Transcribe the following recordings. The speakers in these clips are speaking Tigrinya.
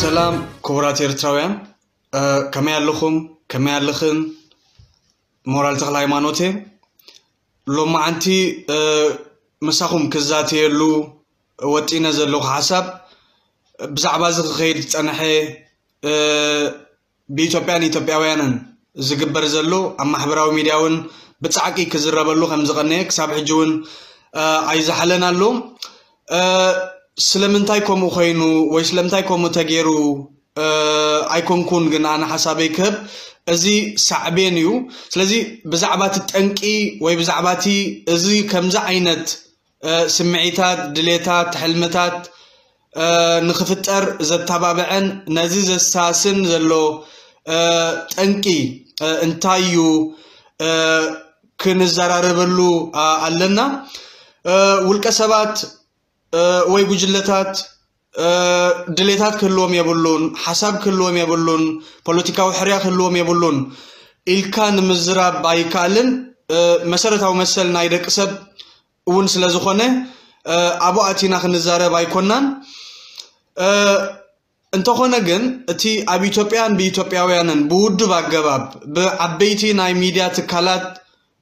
ሰላም ክቡራት ኤርትራውያን፣ ከመይ ኣለኹም? ከመይ ኣለኽን? ሞራል ተኽለ ሃይማኖት እየ። ሎማዓንቲ ምሳኹም ክዛተየሉ ወጢነ ዘለኹ ሓሳብ ብዛዕባ እዚ ክኸይድ ዝጸንሐ ብኢትዮጵያን ኢትዮጵያውያንን ዝግበር ዘሎ ኣብ ማሕበራዊ ሚድያ እውን ብጻዕቂ ክዝረበሉ ከም ዝቐነየ ክሳብ ሕጂ እውን ኣይዝሓለን ኣሎ። ስለምንታይ ከምኡ ኮይኑ ወይ ስለምንታይ ከምኡ ተገይሩ ኣይኮንኩን፣ ግን ኣነ ሓሳበይ ክህብ፣ እዚ ሳዕቤን እዩ። ስለዚ ብዛዕባ እቲ ጠንቂ ወይ ብዛዕባ እቲ እዚ ከምዚ ዓይነት ስምዒታት፣ ድሌታት፣ ሕልምታት ንክፍጠር ዘተባብዐን ነዚ ዘሳስን ዘሎ ጠንቂ እንታይ እዩ ክንዘራረበሉ ኣለና። ውልቀ ሰባት ወይ ጉጅለታት ድሌታት ክህልዎም የብሉን፣ ሓሳብ ክህልዎም የብሉን፣ ፖለቲካዊ ሕርያ ክህልዎም የብሉን ኢልካ ንምዝራብ ኣይከኣልን። መሰረታዊ መሰል ናይ ደቂ ሰብ እውን ስለ ዝኾነ ኣብኡ ኣቲና ክንዛረብ ኣይኮናን። እንተኾነ ግን እቲ ኣብ ኢትዮጵያን ብኢትዮጵያውያንን ብውዱብ ኣገባብ ብዓበይቲ ናይ ሚድያ ትካላት፣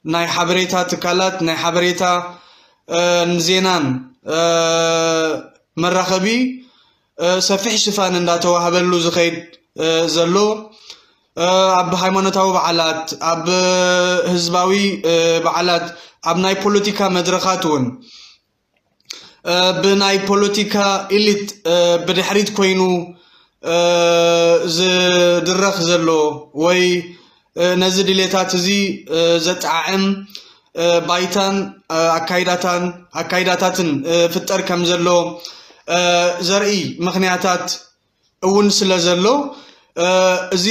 ናይ ሓበሬታ ትካላት፣ ናይ ሓበሬታ ዜናን መራኸቢ ሰፊሕ ሽፋን እንዳተዋህበሉ ዝኸይድ ዘሎ፣ ኣብ ሃይማኖታዊ በዓላት፣ ኣብ ህዝባዊ በዓላት፣ ኣብ ናይ ፖለቲካ መድረኻት እውን ብናይ ፖለቲካ ኢሊት ብድሕሪት ኮይኑ ዝድረኽ ዘሎ ወይ ነዚ ድሌታት እዚ ዘጠዓዕም ባይታን ኣካይዳታን ኣካይዳታትን ፍጠር ከም ዘሎ ዘርኢ ምኽንያታት እውን ስለ ዘሎ፣ እዚ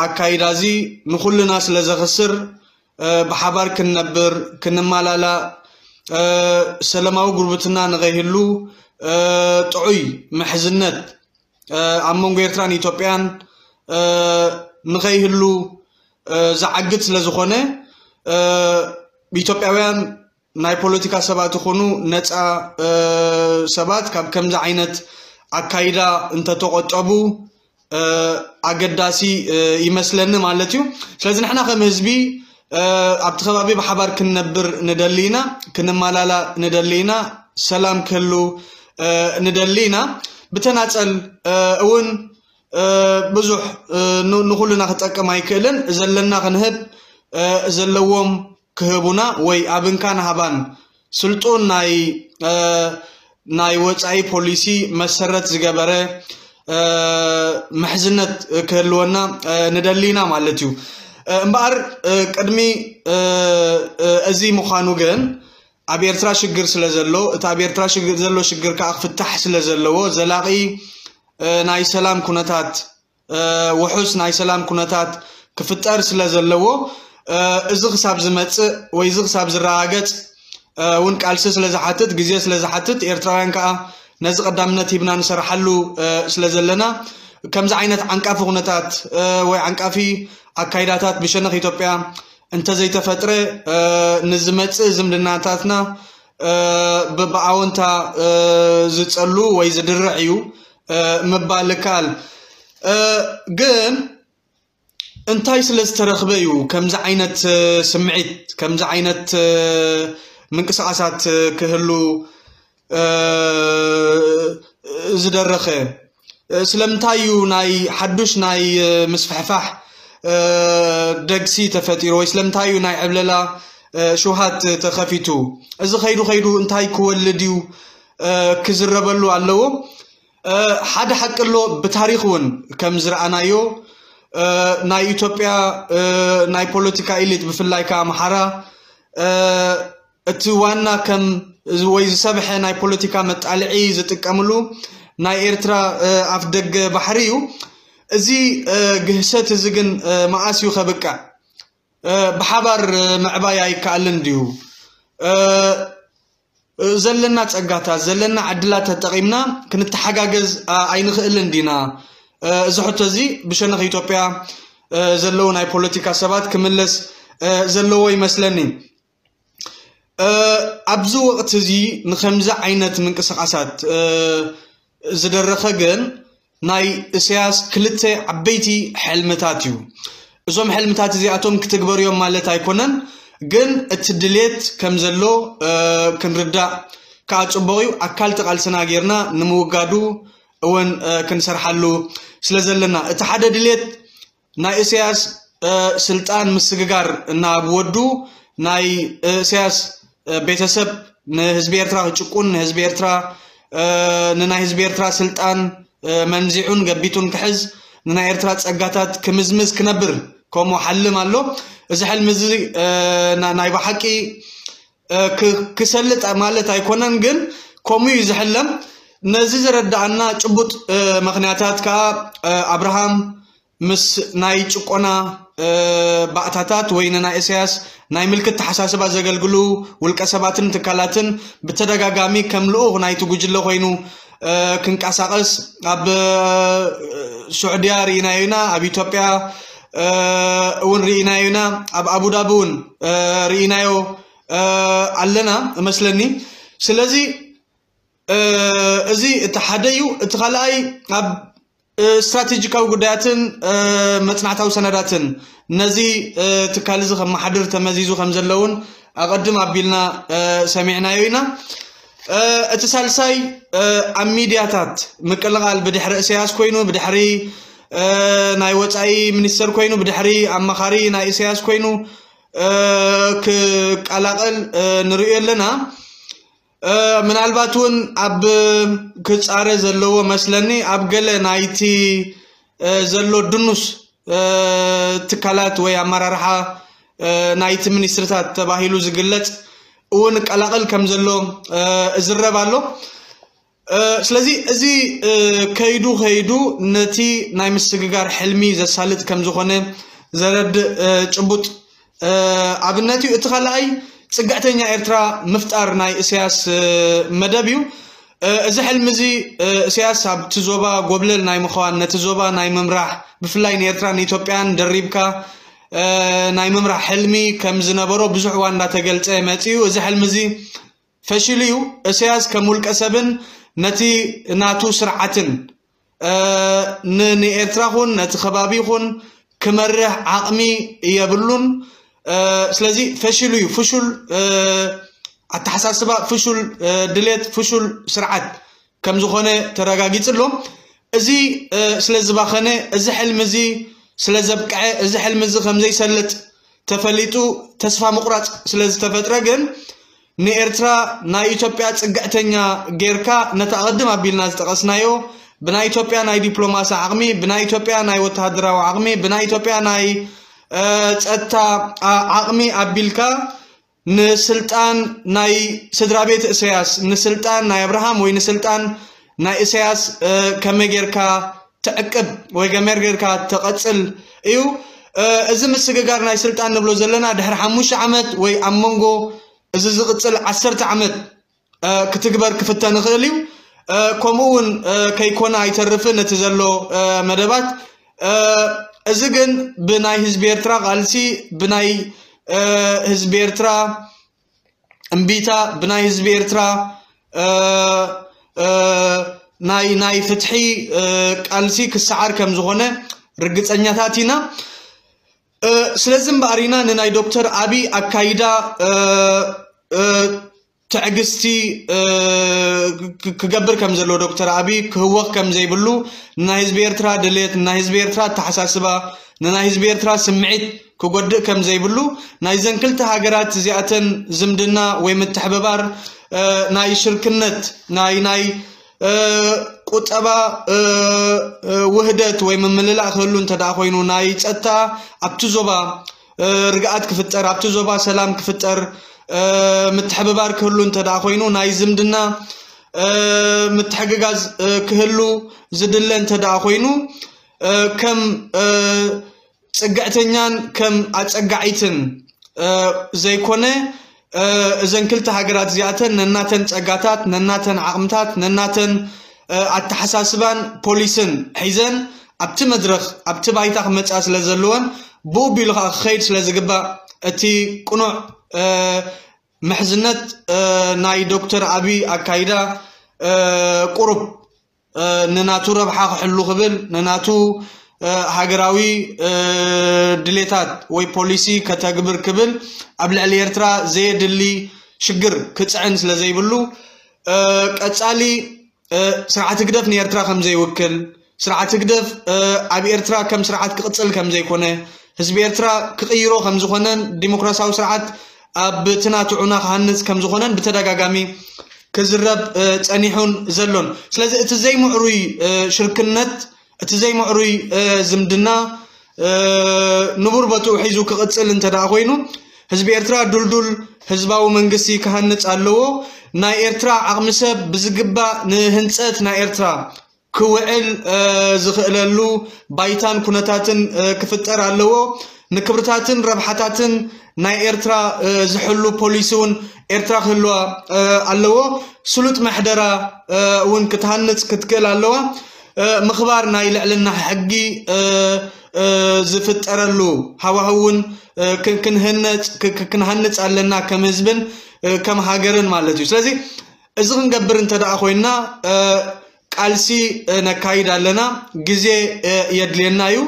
ኣካይዳ እዚ ንኹልና ስለ ዘኽስር፣ ብሓባር ክንነብር፣ ክንመላላእ፣ ሰላማዊ ጉርብትና ንኸይህሉ፣ ጥዑይ ምሕዝነት ኣብ መንጎ ኤርትራን ኢትዮጵያን ንኸይህሉ ዝዓግት ስለ ዝኾነ፣ ኢትዮጵያውያን ናይ ፖለቲካ ሰባት ይኹኑ ነፃ ሰባት ካብ ከምዚ ዓይነት ኣካይዳ እንተተቆጠቡ ኣገዳሲ ይመስለኒ ማለት እዩ። ስለዚ ንሕና ከም ህዝቢ ኣብቲ ከባቢ ብሓባር ክንነብር ንደሊ ኢና፣ ክንመላላእ ንደሊ ኢና፣ ሰላም ክህሉ ንደሊ ኢና። ብተናፀል እውን ብዙሕ ንኹልና ክጠቅም ኣይክእልን። ዘለና ክንህብ፣ ዘለዎም ክህቡና ወይ ኣብ እንካን ሃባን ስልጡን ናይ ናይ ወፃኢ ፖሊሲ መሰረት ዝገበረ ምሕዝነት ክህልወና ንደሊ ኢና ማለት እዩ። እምበኣር ቅድሚ እዚ ምዃኑ ግን ኣብ ኤርትራ ሽግር ስለ ዘሎ፣ እቲ ኣብ ኤርትራ ሽግር ዘሎ ሽግር ከዓ ክፍታሕ ስለ ዘለዎ፣ ዘላቒ ናይ ሰላም ኩነታት ውሑስ ናይ ሰላም ኩነታት ክፍጠር ስለ ዘለዎ፣ እዚ ክሳብ ዝመፅእ ወይ እዚ ክሳብ ዝረጋገፅ እውን ቃልሲ ስለ ዝሓትት፣ ግዜ ስለ ዝሓትት፣ ኤርትራውያን ከዓ ነዚ ቀዳምነት ሂብና ንሰርሓሉ ስለ ዘለና፣ ከምዚ ዓይነት ዓንቃፊ ኩነታት ወይ ዓንቃፊ ኣካይዳታት ብሸነኽ ኢትዮጵያ እንተዘይተፈጥረ፣ ንዝመፅእ ዝምድናታትና ብኣወንታ ዝፀሉ ወይ ዝድርዕ እዩ ምባል ይከኣል። ግን እንታይ ስለ ዝተረኽበ እዩ ከምዚ ዓይነት ስምዒት፣ ከምዚ ዓይነት ምንቅስቃሳት ክህሉ ዝደረኸ? ስለምንታይ እዩ ናይ ሓዱሽ ናይ ምስፍሕፋሕ ደግሲ ተፈጢሩ? ወይ ስለምንታይ እዩ ናይ ዕብለላ ሽውሃት ተኸፊቱ? እዚ ከይዱ ከይዱ እንታይ ክወልድ እዩ ክዝረበሉ ኣለዎ። ሓደ ሓቂ ኣሎ፣ ብታሪኽ እውን ከም ዝረኣናዮ ናይ ኢትዮጵያ ናይ ፖለቲካ ኢሊት፣ ብፍላይ ከዓ ኣምሓራ፣ እቲ ዋና ከም ወይ ዝሰብሐ ናይ ፖለቲካ መጣልዒ ዝጥቀምሉ ናይ ኤርትራ ኣፍ ደገ ባሕሪ እዩ። እዚ ግህሰት እዚ ግን መኣስ እዩ ከብቅዕ? ብሓባር ምዕባይ ኣይከኣልን ድዩ? ዘለና ጸጋታት፣ ዘለና ዕድላት ተጠቒምና ክንተሓጋገዝ ኣይንኽእልን ዲና? እዚ ሕቶ እዚ ብሸነኽ ኢትዮጵያ ዘለዉ ናይ ፖለቲካ ሰባት ክምለስ ዘለዎ ይመስለኒ። ኣብዚ ወቕቲ እዚ ንኸምዚ ዓይነት ምንቅስቓሳት ዝደረኸ ግን ናይ እስያስ ክልተ ዓበይቲ ሕልምታት እዩ። እዞም ሕልምታት እዚኣቶም ክትግበሩ እዮም ማለት ኣይኮነን፣ ግን እቲ ድሌት ከም ዘሎ ክንርዳእ ከዓ ፅቡቕ እዩ። ኣካል ተቓልስና ጌርና ንምውጋዱ እውን ክንሰርሓሉ ስለ ዘለና፣ እቲ ሓደ ድሌት ናይ እስያስ ስልጣን ምስግጋር ናብ ወዱ፣ ናይ እስያስ ቤተሰብ ንህዝቢ ኤርትራ ክጭቁን፣ ንህዝቢ ኤርትራ ንናይ ህዝቢ ኤርትራ ስልጣን መንዚዑን ገቢቱን ክሕዝ፣ ንናይ ኤርትራ ጸጋታት ክምዝምዝ ክነብር ከምኡ ሓልም ኣሎ። እዚ ሕልሚ እዚ ናይ ብሓቂ ክሰልጥ ማለት ኣይኮነን፣ ግን ከምኡ እዩ ዝሕለም። ነዚ ዘረዳኣና ጭቡጥ ምክንያታት ከዓ ኣብርሃም ምስ ናይ ጭቆና ባእታታት ወይ ንናይ እስያስ ናይ ምልክት ተሓሳስባ ዘገልግሉ ውልቀ ሰባትን ትካላትን ብተደጋጋሚ ከም ልኡኽ ናይቲ ጉጅለ ኮይኑ ክንቀሳቐስ ኣብ ሱዕድያ ርኢናዮ ኢና፣ ኣብ ኢትዮጵያ እውን ርኢናዮ ኢና፣ ኣብ ኣቡዳቢ እውን ርኢናዮ ኣለና እመስለኒ። ስለዚ እዚ እቲ ሓደ እዩ። እቲ ካልኣይ ኣብ ስትራቴጂካዊ ጉዳያትን መጽናዕታዊ ሰነዳትን ነዚ ትካል እዚ ከመሓድር ተመዚዙ ከም ዘለውን ኣቐድም ኣቢልና ሰሚዕናዮ ኢና። እቲ ሳልሳይ ኣብ ሚድያታት ምቅልቓል ብድሕሪ እስያስ ኮይኑ፣ ብድሕሪ ናይ ወፃኢ ሚኒስተር ኮይኑ፣ ብድሕሪ ኣማኻሪ ናይ እስያስ ኮይኑ ክቀላቐል ንርእዮ ኣለና። ምናልባት እውን ኣብ ክፃረ ዘለዎ መስለኒ ኣብ ገለ ናይቲ ዘሎ ድኑስ ትካላት ወይ ኣመራርሓ ናይቲ ሚኒስትርታት ተባሂሉ ዝግለፅ እውን ቀላቐል ከም ዘሎ እዝረብ ኣሎ። ስለዚ እዚ ከይዱ ከይዱ ነቲ ናይ ምስግጋር ሕልሚ ዘሳልጥ ከም ዝኾነ ዘረድእ ጭቡጥ ኣብነት እዩ። እቲ ካልኣይ ፅግዕተኛ ኤርትራ ምፍጣር ናይ እስያስ መደብ እዩ። እዚ ሕልሚ እዚ እስያስ ኣብቲ ዞባ ጎብለል ናይ ምዃን፣ ነቲ ዞባ ናይ ምምራሕ፣ ብፍላይ ንኤርትራን ኢትዮጵያን ደሪብካ ናይ ምምራሕ ሕልሚ ከም ዝነበሮ ብዙሕ እዋን እንዳተገልጸ መጺኡ። እዚ ሕልሚ እዚ ፈሽሉ እዩ። እስያስ ከም ውልቀ ሰብን ነቲ ናቱ ስርዓትን ንኤርትራ ኹን ነቲ ከባቢ ኹን ክመርሕ ዓቕሚ የብሉን። ስለዚ ፈሽሉ እዩ። ፍሹል ኣተሓሳስባ፣ ፍሹል ድሌት፣ ፍሹል ስርዓት ከም ዝኾነ ተረጋጊጹ ኣሎ። እዚ ስለ ዝባኸነ፣ እዚ ሕልሚ እዚ ስለ ዘብቅዐ፣ እዚ ሕልሚ እዚ ከም ዘይሰልጥ ተፈሊጡ ተስፋ ምቑራጽ ስለ ዝተፈጥረ ግን ንኤርትራ ናይ ኢትዮጵያ ጽግዕተኛ ጌርካ ነቲ ኣቐድም ኣቢልና ዝጠቐስናዮ ብናይ ኢትዮጵያ ናይ ዲፕሎማሲ ዓቕሚ፣ ብናይ ኢትዮጵያ ናይ ወተሃደራዊ ዓቕሚ፣ ብናይ ኢትዮጵያ ናይ ጸጥታ ዓቕሚ ኣቢልካ ንስልጣን ናይ ስድራ ቤት እሰያስ፣ ንስልጣን ናይ ኣብርሃም ወይ ንስልጣን ናይ እሰያስ ከመይ ጌርካ ትዕቅብ ወይ ገመር ጌርካ ትቐጽል እዩ። እዚ ምስግጋር ናይ ስልጣን ንብሎ ዘለና ድሕሪ ሓሙሽተ ዓመት ወይ ኣብ መንጎ እዚ ዝቕጽል ዓሰርተ ዓመት ክትግበር ክፍተን ይኽእል እዩ። ከምኡ እውን ከይኮነ ኣይተርፍን እቲ ዘሎ መደባት። እዚ ግን ብናይ ህዝቢ ኤርትራ ቃልሲ፣ ብናይ ህዝቢ ኤርትራ እምቢታ፣ ብናይ ህዝቢ ኤርትራ ናይ ናይ ፍትሒ ቃልሲ ክሰዓር ከም ዝኾነ ርግጸኛታት ኢና። ስለዚ እምበኣር ኢና ንናይ ዶክተር ኣቢ ኣካይዳ ትዕግስቲ ክገብር ከም ዘለዎ፣ ዶክተር ኣቢ ክህወኽ ከም ዘይብሉ፣ ንናይ ህዝቢ ኤርትራ ድሌት፣ ንናይ ህዝቢ ኤርትራ ኣተሓሳስባ፣ ንናይ ህዝቢ ኤርትራ ስምዒት ክጎድእ ከም ዘይብሉ፣ ናይዘን ክልተ ሃገራት እዚኣተን ዝምድና ወይ ምትሕብባር ናይ ሽርክነት ናይ ናይ ቁጠባ ውህደት ወይ ምምልላእ ክህሉ እንተ ደኣ ኮይኑ፣ ናይ ጸጥታ ኣብቲ ዞባ ርግኣት ክፍጠር፣ ኣብቲ ዞባ ሰላም ክፍጠር፣ ምትሕብባር ክህሉ እንተ ደኣ ኮይኑ፣ ናይ ዝምድና ምትሕግጋዝ ክህሉ ዝድለ እንተ ደኣ ኮይኑ፣ ከም ጽግዕተኛን ከም ኣጸጋዒትን ዘይኮነ፣ እዘን ክልተ ሃገራት እዚኣተን ነናተን ጸጋታት፣ ነናተን ዓቕምታት፣ ነናተን ኣተሓሳስባን ፖሊስን ሒዘን ኣብቲ መድረኽ፣ ኣብቲ ባይታ ክመጻ ስለ ዘለወን፣ ብኡ ቢሉ ከኣ ክኸይድ ስለ ዝግባእ፣ እቲ ቅኑዕ ምሕዝነት ናይ ዶክተር ኣቢ ኣካይዳ ቁሩብ ንናቱ ረብሓ ክሕሉ ክብል፣ ንናቱ ሃገራዊ ድሌታት ወይ ፖሊሲ ከተግብር ክብል ኣብ ልዕሊ ኤርትራ ዘየድሊ ሽግር ክጽዕን ስለ ዘይብሉ፣ ቀጻሊ ስርዓት ህግደፍ ንኤርትራ ከም ዘይውክል፣ ስርዓት ህግደፍ ኣብ ኤርትራ ከም ስርዓት ክቕጽል ከም ዘይኮነ፣ ህዝቢ ኤርትራ ክቕይሮ ከም ዝኾነን ዲሞክራሲያዊ ስርዓት ኣብ ትናትዑና ክሃንጽ ከም ዝኾነን ብተደጋጋሚ ክዝረብ ጸኒሑን ዘሎን። ስለዚ እቲ ዘይምዕሩይ ሽርክነት፣ እቲ ዘይምዕሩይ ዝምድና ንቡር ቦትኡ ሒዙ ክቕጽል እንተ ደኣ ኮይኑ፣ ህዝቢ ኤርትራ ድልዱል ህዝባዊ መንግስቲ ክሃንጽ ኣለዎ። ናይ ኤርትራ ዓቕሚ ሰብ ብዝግባእ ንህንጸት ናይ ኤርትራ ክውዕል ዝኽእለሉ ባይታን ኩነታትን ክፍጠር ኣለዎ። ንክብርታትን ረብሓታትን ናይ ኤርትራ ዝሕሉ ፖሊሲ እውን ኤርትራ ክህልዋ ኣለዎ። ስሉጥ መሕደራ እውን ክትሃንጽ ክትክእል ኣለዋ። ምኽባር ናይ ልዕልና ሕጊ ዝፍጠረሉ ሃዋህው እውን ክንሃንጽ ኣለና ከም ህዝብን ከም ሃገርን ማለት እዩ። ስለዚ እዚ ክንገብር እንተ ደኣ ኮይና ቃልሲ ነካይድ ኣለና። ግዜ የድልየና እዩ።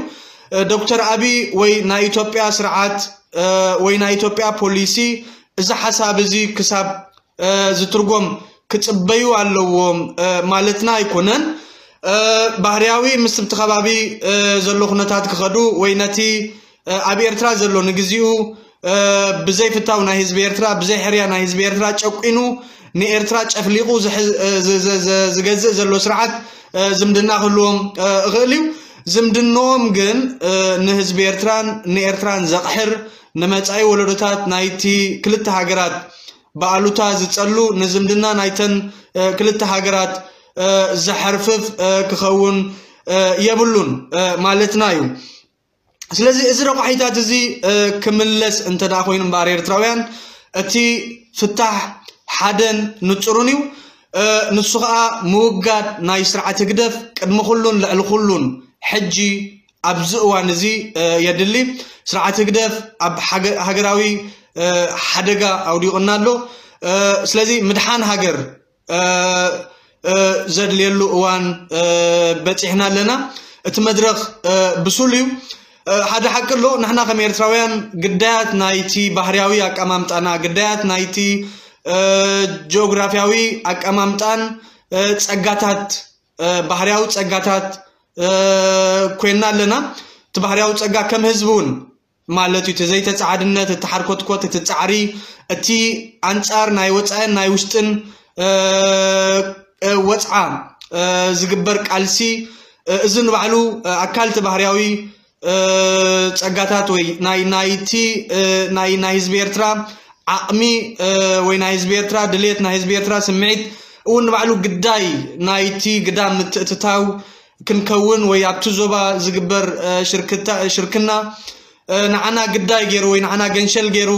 ዶክተር ኣቢ ወይ ናይ ኢትዮጵያ ስርዓት ወይ ናይ ኢትዮጵያ ፖሊሲ እዚ ሓሳብ እዚ ክሳብ ዝትርጎም ክጽበዩ ኣለዎም ማለትና ኣይኮነን። ባህርያዊ ምስ እቲ ከባቢ ዘሎ ኩነታት ክኸዱ ወይ ነቲ ኣብ ኤርትራ ዘሎ ንግዚኡ ብዘይ ፍታው ናይ ህዝቢ ኤርትራ፣ ብዘይ ሕርያ ናይ ህዝቢ ኤርትራ ጨቂኑ ንኤርትራ ጨፍሊቑ ዝገዝእ ዘሎ ስርዓት ዝምድና ክህልዎም እኽእል እዩ። ዝምድንኦም ግን ንህዝቢ ኤርትራን ንኤርትራን ዘቕሕር፣ ንመጻኢ ወለዶታት ናይቲ ክልተ ሃገራት ብኣሉታ ዝጸሉ፣ ንዝምድና ናይተን ክልተ ሃገራት ዘሐርፍፍ ክኸውን የብሉን ማለትና እዩ። ስለዚ እዚ ረቋሒታት እዚ ክምለስ እንተ ደኣ ኮይኑ እምበኣር ኤርትራውያን እቲ ፍታሕ ሓደን ንጹርን እዩ። ንሱ ኸኣ ምውጋድ ናይ ስርዓት ህግደፍ ቅድሚ ኩሉን ልዕሊ ኩሉን ሕጂ ኣብዚ እዋን እዚ የድሊ። ስርዓት ህግደፍ ኣብ ሃገራዊ ሓደጋ ኣውዲቑና ኣሎ። ስለዚ ምድሓን ሃገር ዘድልየሉ እዋን በጺሕና ኣለና። እቲ መድረኽ ብሱል እዩ። ሓደ ሓቂ ኣሎ፣ ንሕና ከም ኤርትራውያን ግዳያት ናይቲ ባህርያዊ ኣቀማምጣና፣ ግዳያት ናይቲ ጂኦግራፍያዊ ኣቀማምጣን ጸጋታት፣ ባህርያዊ ጸጋታት ኮይና ኣለና። እቲ ባህርያዊ ጸጋ ከም ህዝቢ እውን ማለት እዩ። እቲ ዘይተጻዓድነት፣ እቲ ሓርኮትኮት፣ እቲ ጻዕሪ፣ እቲ ኣንጻር ናይ ወጻእን ናይ ውሽጥን ወጽዓ ዝግበር ቃልሲ፣ እዚ ንባዕሉ ኣካል እቲ ባህርያዊ ጸጋታት ወይ ናይ ናይቲ ናይ ናይ ህዝቢ ኤርትራ ዓቕሚ ወይ ናይ ህዝቢ ኤርትራ ድሌት፣ ናይ ህዝቢ ኤርትራ ስምዒት እውን ንባዕሉ ግዳይ ናይቲ ግዳም ምትእትታው ክንከውን ወይ ኣብቲ ዞባ ዝግበር ሽርክና ንዓና ግዳይ ገይሩ ወይ ንዓና ገንሸል ገይሩ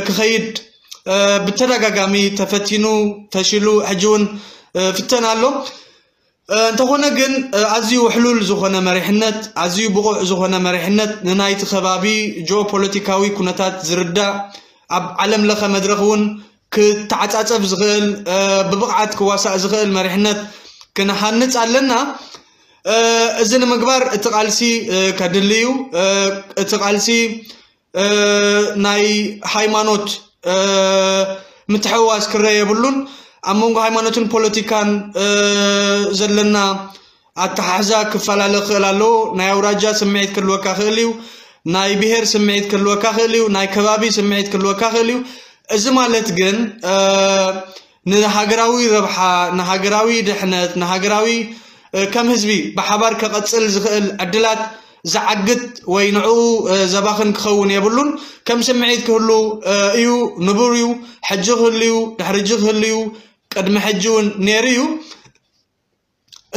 ክኸይድ ብተደጋጋሚ ተፈቲኑ ፈሽሉ ሕጂ እውን ፍተን ኣሎ። እንተኾነ ግን ኣዝዩ ውሕሉል ዝኾነ መሪሕነት፣ ኣዝዩ ብቑዕ ዝኾነ መሪሕነት ንናይቲ ከባቢ ጂኦፖለቲካዊ ኩነታት ዝርዳእ፣ ኣብ ዓለም ለኸ መድረኽ እውን ክተዓጻጸፍ ዝኽእል፣ ብብቕዓት ክዋሳእ ዝኽእል መሪሕነት ክንሃንጽ ኣለና። እዚ ንምግባር እቲ ቃልሲ ከድሊ እዩ። እቲ ቃልሲ ናይ ሃይማኖት ምትሕውዋስ ክረአ የብሉን። ኣብ መንጎ ሃይማኖትን ፖለቲካን ዘለና ኣተሓሕዛ ክፈላለ ክኽእል ኣለዎ። ናይ ኣውራጃ ስምዒት ክህልወካ ክእል እዩ። ናይ ብሄር ስምዒት ክህልወካ ክእል እዩ። ናይ ከባቢ ስምዒት ክህልወካ ክእል እዩ። እዚ ማለት ግን ንሃገራዊ ረብሓ፣ ንሃገራዊ ድሕነት፣ ንሃገራዊ ከም ህዝቢ ብሓባር ከቐጽል ዝኽእል ዕድላት ዝዓግት ወይ ንዕኡ ዘባኽን ክኸውን የብሉን። ከም ስምዒት ክህሉ እዩ፣ ንቡር እዩ። ሕጂ ክህሉ እዩ፣ ድሕሪ ሕጂ ክህሉ እዩ፣ ቅድሚ ሕጂ እውን ነይሩ እዩ።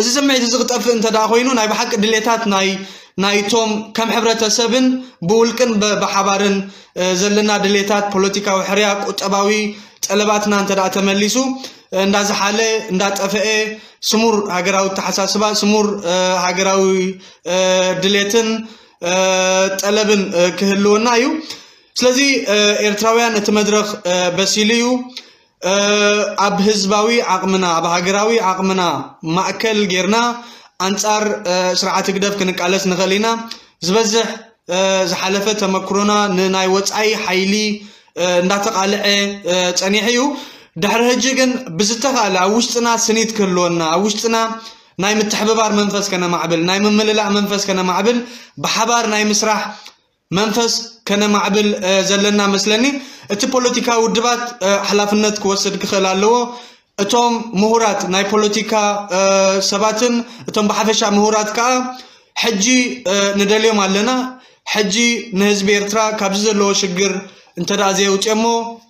እዚ ስምዒት እዚ ክጠፍእ እንተ ደኣ ኮይኑ ናይ ብሓቂ ድሌታት ናይ ናይቶም ከም ሕብረተሰብን ብውልቅን ብሓባርን ዘለና ድሌታት ፖለቲካዊ ሕርያ፣ ቁጠባዊ ጠለባትና እንተ ደኣ ተመሊሱ እንዳዝሓለ እንዳጠፈኤ ስሙር ሃገራዊ ኣተሓሳስባ፣ ስሙር ሃገራዊ ድሌትን ጠለብን ክህልወና እዩ። ስለዚ ኤርትራውያን እቲ መድረኽ በሲሉ እዩ። ኣብ ህዝባዊ ዓቕምና፣ ኣብ ሃገራዊ ዓቕምና ማእከል ጌርና ኣንጻር ስርዓት ህግደፍ ክንቃለስ ንኽእል ኢና። ዝበዝሕ ዝሓለፈ ተመክሮና ንናይ ወጻኢ ሓይሊ እንዳተቓልዐ ጸኒሑ እዩ። ድሕሪ ሕጂ ግን ብዝተኻእለ ኣብ ውሽጥና ስኒት ክህልወና፣ ኣብ ውሽጥና ናይ ምትሕብባር መንፈስ ከነማዕብል፣ ናይ ምምልላእ መንፈስ ከነማዕብል፣ ብሓባር ናይ ምስራሕ መንፈስ ከነማዕብል ዘለና መስለኒ። እቲ ፖለቲካዊ ውድባት ሓላፍነት ክወስድ ክኽእል ኣለዎ። እቶም ምሁራት ናይ ፖለቲካ ሰባትን እቶም ብሓፈሻ ምሁራት ከዓ ሕጂ ንደልዮም ኣለና። ሕጂ ንህዝቢ ኤርትራ ካብዚ ዘለዎ ሽግር እንተ ደኣ ዘየውፅኦሞ፣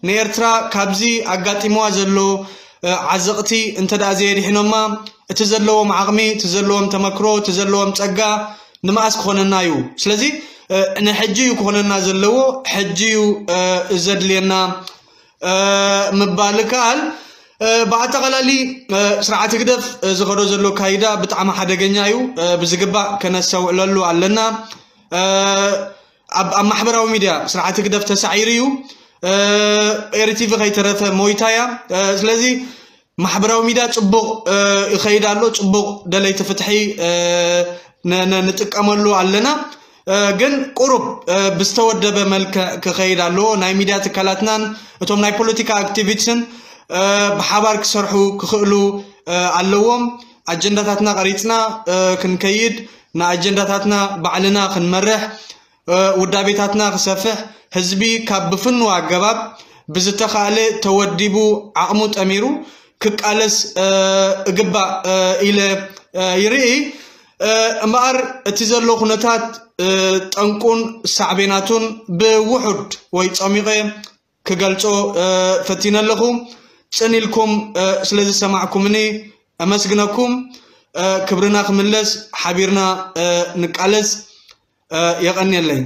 ንኤርትራ ካብዚ ኣጋጢምዋ ዘሎ ዓዘቕቲ እንተ ደኣ ዘየድሒኖማ፣ እቲ ዘለዎም ዓቕሚ፣ እቲ ዘለዎም ተመክሮ፣ እቲ ዘለዎም ጸጋ ንምኣስ ክኾነና እዩ። ስለዚ ንሕጂ እዩ ክኾነና ዘለዎ፣ ሕጂ እዩ ዘድልየና ምባል ይከኣል። ብኣጠቓላሊ ስርዓት ህግደፍ ዝኸዶ ዘሎ ካይዳ ብጣዕሚ ሓደገኛ እዩ። ብዝግባእ ከነስተውዕለሉ ኣለና። ኣብ ማሕበራዊ ሚድያ ስርዓት ህግደፍ ተሳዒሩ እዩ። ኤሪቲቪ ከይተረፈ ሞይታ እያ። ስለዚ ማሕበራዊ ሚድያ ጽቡቕ ይኸይድ ኣሎ፣ ጽቡቕ ደለይቲ ፍትሒ ንጥቀመሉ ኣለና። ግን ቁሩብ ብዝተወደበ መልክዕ ክኸይድ ኣለዎ። ናይ ሚድያ ትካላትናን እቶም ናይ ፖለቲካ ኣክቲቪስትን ብሓባር ክሰርሑ ክኽእሉ ኣለዎም። ኣጀንዳታትና ቀሪጽና ክንከይድ፣ ንኣጀንዳታትና ባዕልና ክንመርሕ፣ ውዳቤታትና ክሰፍሕ፣ ህዝቢ ካብ ብፍኑው ኣገባብ ብዝተኻእለ ተወዲቡ ዓቕሙ ጠሚሩ ክቃለስ እግባእ ኢለ ይርኢ። እምበኣር እቲ ዘሎ ኩነታት ጠንቁን ሳዕቤናቱን ብውሑድ ወይ ጸሚቐ ክገልጾ ፈቲነ ኣለኹ። ጽን ኢልኩም ስለ ዝሰማዕኩምኒ ኣመስግነኩም። ክብርና ክምለስ ሓቢርና ንቃለስ። የቐንየለይ።